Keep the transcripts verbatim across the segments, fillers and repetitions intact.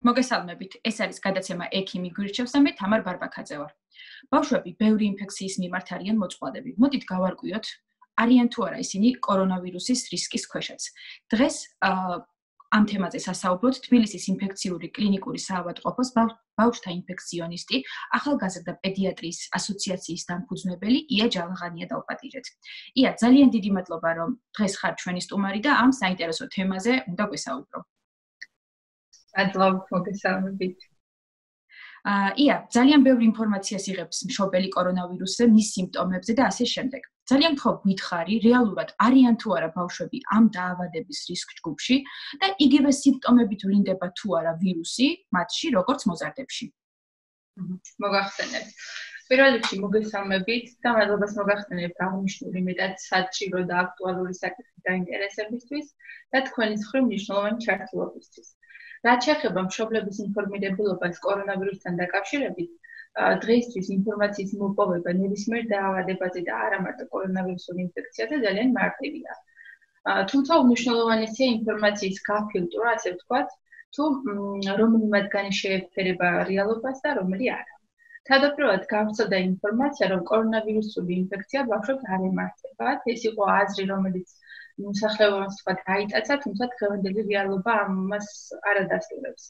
მოგესალმებით. ეს არის გადაცემა ექიმი გვირჩევს და მე თამარ ბარბაქაძე ვარ. ბავშვები ბევრი ინფექციის მიმართ არიან მოწყვლადები. მოდით გავარკვიოთ, არიან თუ არა ისინი კორონავირუსის რისკის ქვეშაც. დღეს ამ თემაზე სასაუბროთ თბილისის ინფექციური კლინიკური საავადმყოფოს ბავშვთა ინფექციონისტი, ახალგაზრდა პედიატრიის ასოციაციის დამფუძნებელი ია ჯალაღანია დავპატიჟეთ. ია, ძალიან დიდი მადლობა, რომ დღეს ხარ ჩვენი სტუმარი და ამ საინტერესო თემაზე უნდა გვესაუბრო. მადლობა მოგესალმებით. ია, ძალიან ბევრი ინფორმაციას იღებს მშობელი კორონავირუსზე, მის სიმპტომებზე და ასე შემდეგ. ძალიან ხო გითხარი, რეალურად არიან თუ არა ბავშვები ამ დაავადების რისკ ჯგუფში და იგივე სიმპტომებით ვლინდება თუ არა ვირუსი მათში, როგორც მოზარდებში. მოგახსენებთ. პირველ რიგში მოგესალმებით და მადლობას მოგახსენებთ აღნიშნული მეტად საჭირო და აქტუალური საკითხის დაინტერესებისთვის და თქვენი მხრივ მნიშვნელოვანი ჩართულობისთვის. რაც შეეხება მშობლების ინფორმირებულობას კორონავირუსთან დაკავშირებით, დღეისთვის ინფორმაციის მოპოვება ნებისმიერ დაავადებაზე და არა მარტო კორონავირუსულ ინფექციაზე ძალიან მარტივია. თუმცა უმნიშვნელოვანესია ინფორმაციის გაფილტრა, ასე ვთქვათ, თუ რომელი მათგანი შეეფერება რეალობას და რომელი არა. თავდაპირველად გავრცელდა ინფორმაცია, რომ კორონავირუსული ინფექცია ბავშვებს არ ემართებათ. ეს იყო აზრი, რომელიც მოსახლეობას თქვა დაიტაცა, თუმცა დღევანდელი რეალობა ამას არ ადასტურებს.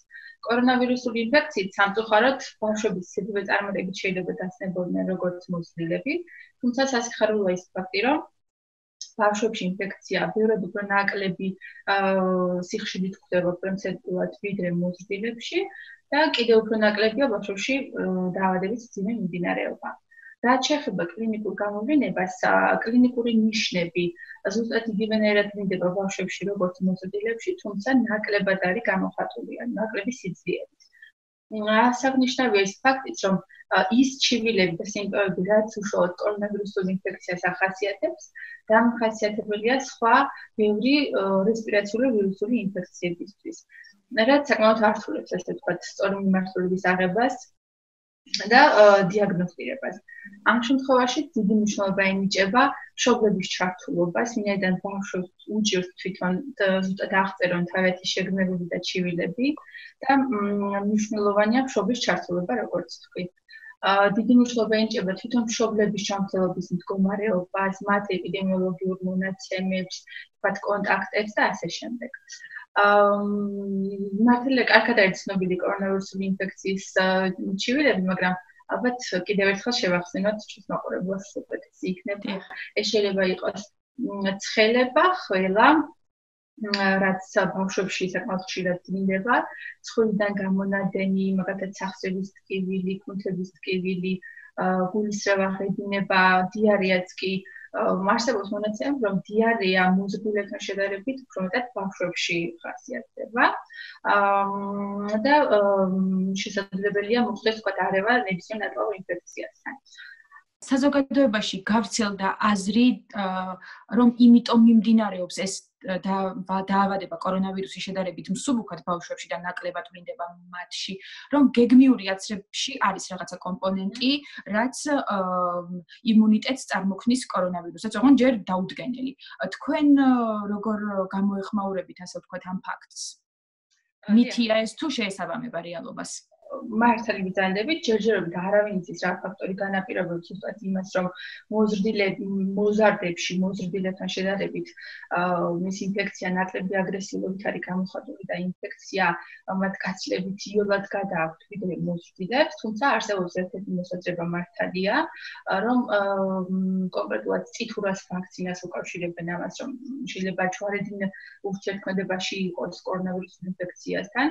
კორონავირუსული ინფექციით სამწუხაროდ ბავშვების სიბრძვე წარმატებით შეიძლება დასნებოდნენ როგორც მოზრდილები, თუმცა სასიხარულოა ის ფაქტი, რომ ბავშვებში ინფექცია ბევრად უფრო ნაკლები სიხშირით გვხვდება პროცენტულად ვიდრე მოზრდილებში და კიდევ უფრო ნაკლებია ბავშვებში დაავადების მძიმე მიმდინარეობა. რაც შეეხება კლინიკურ გამოვლენებას, კლინიკური ნიშნები ზუსტად იგივენაირად ვლინდება ბავშვებში, როგორც მოზრდილებში, თუმცა ნაკლებად არის გამოხატული, ან ნაკლები სიძლიერით. აღსანიშნავია ის ფაქტიც, რომ ის ჩივილები და სიმპტომები, რაც უშუალოდ კორონავირუსულ ინფექციას ახასიათებს, დამახასიათებელია სხვა ბევრი რესპირაციული ვირუსული ინფექციებისთვის. რაც საკმაოდ ართულებს, ასე ვთქვათ, სწორი მიმართულების აღებას და დიაგნოსტირებას. ამ შემთხვევაში დიდი მნიშვნელობა ენიჭება მშობლების ჩართულობას, ვინაიდან ბავშვებს უჭირს თვითონ ზუსტად აღწერონ თავისი შეგრძნებები და ჩივილები და მნიშვნელოვანია მშობლის ჩართულობა, როგორც ვთქვით. დიდი მნიშვნელობა ენიჭება თვითონ მშობლების ჯანმრთელობის მდგომარეობას, მათ ეპიდემიოლოგიურ მონაცემებს, ვთქვათ, კონტაქტებს და ასე შემდეგ. მართალია კარგად არის ცნობილი კორონავირუსული ინფექციის ჩივილები, მაგრამ ალბათ კიდევ ერთხელ შევახსენოთ ჩვენს მაყურებლებს უპირატესი იქნება. ეს შეიძლება იყოს ცხელება, ხველა, რაც ბავშვებში საკმაოდ ხშირად ვლინდება, ცხვირიდან გამონადენი, მაგალითად სახსრების ტკივილი, კუნთების ტკივილი, გულისრევა, ღებინება, დიარეაც კი არსებობს მონაცემები, რომ დიარეა მოზრდილებთან შედარებით უფრო მეტად ბავშვებში ხასიათდება და შესაძლებელია მოხდეს თქვა დარევა ნებისმიერ ნატლავ ინფექციასთან. საზოგადოებაში გავრცელდა აზრი, რომ იმიტომ მიმდინარეობს ეს დაავადება კორონავირუსის შედარებით მსუბუქად ბავშვებში და ნაკლებად ვლინდება მათში, რომ გეგმიური აცრებში არის რაღაცა კომპონენტი, რაც იმუნიტეტს წარმოქმნის კორონავირუსს, ოღონდ ჯერ დაუდგენელი. თქვენ როგორ გამოეხმაურებით, ასე ვთქვათ, ამ ფაქტს? მითია ეს თუ შეესაბამება რეალობას? მართალი ბრძანდებით, ჯერჯერობით არავინ იცის რა ფაქტორი განაპირობებს ზუსტად იმას, რომ მოზრდილები, მოზარდებში, მოზრდილებთან შედარებით ეს ინფექცია ნაკლები აგრესიულობით არის გამოხატული და ინფექცია მათ გაცილებით იოლად გადააქვთ ვიდრე მოზრდილებს, თუმცა არსებობს ერთ-ერთი მოსაზრება მართალია, რომ კონკრეტულად წითურას ვაქცინას უკავშირებენ ამას, რომ შეიძლება ჯვარედინ ურთიერთქმედებაში იყოს კორონავირუსული ინფექციასთან.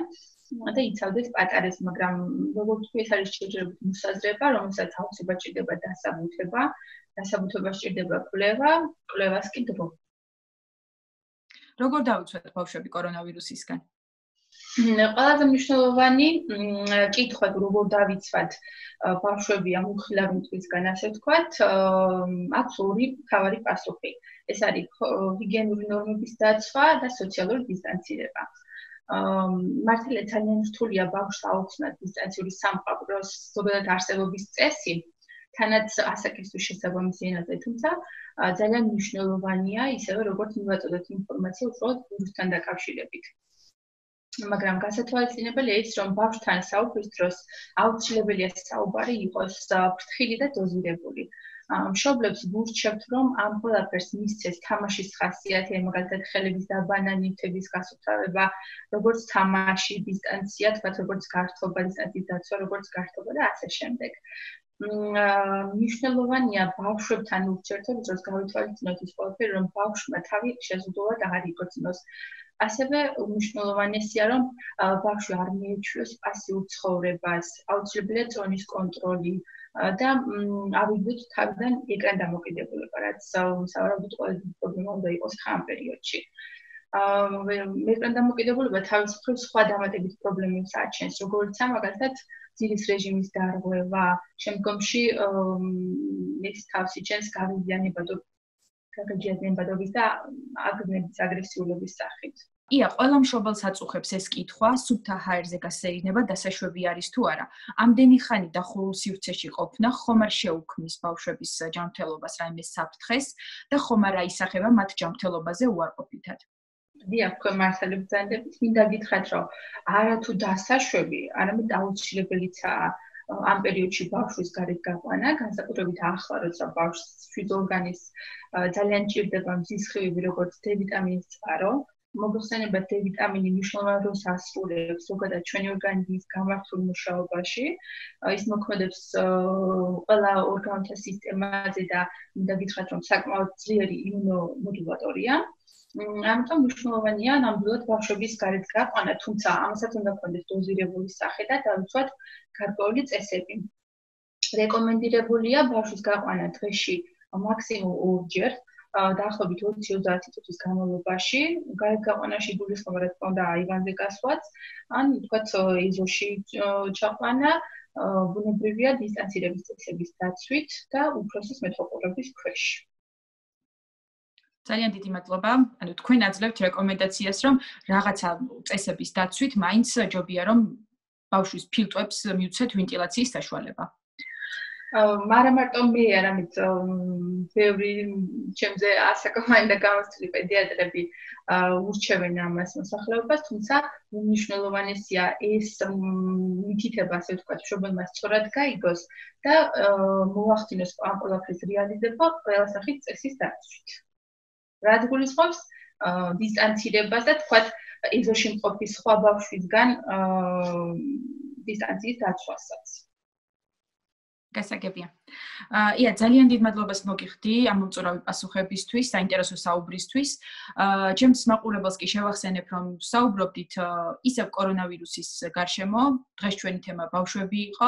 და იცავდეს პატარეს, მაგრამ როგორც ვთქვი, ეს არის ჯერჯერობით მოსაზრება, რომელსაც აუცილებლად ჭირდება დასაბუთება, დასაბუთებას ჭირდება კვლევა, კვლევას კი დრო. როგორ დავიცვათ ბავშვები კორონავირუსისგან? ყველაზე მნიშვნელოვანი კითხვა, როგორ დავიცვათ ბავშვები ამ უხილავი მტვრისგან, ასე ვთქვათ, აქვს ორი მთავარი პასუხი. ეს არის ჰიგიენური ნორმების დაცვა და სოციალური დისტანცირება. მართალია ძალიან რთულია ბავშვს აუხსნათ დისტანციური სამყაროს ზოგადად არსებობის წესი, თანაც ასაკისთვის შესაბამისი ენაზე, თუმცა ძალიან მნიშვნელოვანია ისევე როგორც მივაწოდოთ ინფორმაცია უბრალოდ ვირუსთან დაკავშირებით. მაგრამ გასათვალისწინებელია ის, რომ ბავშვთან საუბრის დროს აუცილებელია საუბარი იყოს ფრთხილი და დოზირებული. მშობლებს ვურჩევთ, რომ ამ ყველაფერს მისცეს თამაშის ხასიათი, მაგალითად ხელების დაბანა, ნივთების გასუფთავება, როგორც თამაში, დისტანცია, თქვათ როგორც გართობა, დისტანციის დაცვა, როგორც გართობა და ასე შემდეგ. მნიშვნელოვანია ბავშვებთან ურთიერთობის დროს გავითვალისწინოთ ის ყველაფერი, რომ ბავშვმა თავი შეზღუდულად აღარ იქოცნოს. ასევე მნიშვნელოვანია, რომ ბავშვი არ მიეჩვიოს პასიურ ცხოვრებას, აუცილებელია წონის კონტროლი და ავიდოთ თავიდან ეკრან დამოკიდებულება, რაც სავარაუდოდ ყველაზე პრობლემა უნდა იყოს ხან პერიოდში. ეკრან დამოკიდებულება თავის მხრივ სხვა დამატებით პრობლემებს აჩენს, როგორც მაგალითად ძილის რეჟიმის დარღვევა, შემდგომში ეს თავს იჩენს გაღიზიანებადობის გაღიზიანებადობის და აგრესივის აგრესიულობის სახით. ია, ყველა მშობელს აწუხებს ეს კითხვა, სუფთა ჰაერზე გასეირნება დასაშვები არის თუ არა. ამდენი ხანი დახურულ სივრცეში ყოფნა ხომ არ შეუქმნის ბავშვების ჯანმრთელობას რაიმე საფრთხეს და ხომ არ აისახება მათ ჯანმრთელობაზე უარყოფითად. დიახ, თქვენ მართალი ბრძანდებით, მინდა გითხრათ, რომ არა თუ დასაშვები, არამედ აუცილებელიცაა ამ პერიოდში ბავშვის გარეთ გაყვანა, განსაკუთრებით ახლა, როცა ბავშვს შვილორგანის ძალიან ჭირდება მზის ხივები, როგორც დ ვიტამინის წყარო. მოგხსენებათ, დ ვიტამინი მნიშვნელოვან როლს ასრულებს ზოგადად ჩვენი ორგანიზმის გამართულ მუშაობაში. ის მოქმედებს ყველა ორგანოთა სისტემაზე და მინდა გითხრათ, რომ საკმაოდ ძლიერი იმუნომოდულატორია. ამიტომ მნიშვნელოვანია ნამდვილად ბავშვების გარეთ გაყვანა, თუმცა ამასაც უნდა გქონდეს დოზირებული სახე და დავიცვათ გარკვეული წესები. რეკომენდირებულია ბავშვის გაყვანა დღეში მაქსიმუმ ორჯერ. დაახლოებით ოცი ოცდაათი წუთის განმავლობაში, გარეთ გაყვანაში გულისხმობა რა თქმა უნდა აივანზე გასვლაც, ან ვთქვათ ეზოში ჩაყვანა, ბუნებრივია დისტანცირების წესების დაცვით და უფროსის მეთვალყურების ქვეშ. ძალიან დიდი მადლობა. ანუ თქვენ აძლევთ რეკომენდაციას, რომ რაღაცა წესების დაცვით მაინც ჯობია რომ ბავშვის ფილტვებს მიუცეთ ვენტილაციის საშუალება. მარა მარტო მე არამედ ბევრი ჩემზე ასაკოვანი და გამოცდილი პედიატრები ურჩევენ ამას მოსახლეობას, თუმცა უმნიშვნელოვანესია ეს მითითება, ასე ვთქვათ, მშობელმა სწორად გაიგოს და მოახდინოს ამ ყველაფრის რეალიზება ყველა სახით წესის დაცვით. რაც გულისხმობს დისტანცირებას და თქვათ ეზოში მყოფი სხვა ბავშვისგან დისტანციის დაცვასაც. გასაგებია. ია, ძალიან დიდ მადლობას მოგიხდი ამ მომწურავი პასუხებისთვის, საინტერესო საუბრისთვის. ჩემს მაყურებელს კი შევახსენებ, რომ საუბრობდით ისევ კორონავირუსის გარშემო, დღეს ჩვენი თემა ბავშვები იყო.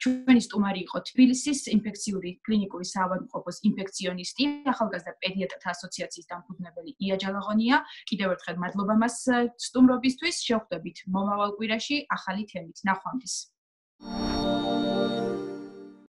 ჩვენი სტუმარი იყო თბილისის ინფექციური კლინიკური საავადმყოფოს ინფექციონისტი, ახალგაზრდა პედიატრთა ასოციაციის დამფუძნებელი ია ჯალაღონია. კიდევ ერთხელ მადლობა მას სტუმრობისთვის. შევხვდებით მომავალ კვირაში ახალი თემით. ნახვამდის.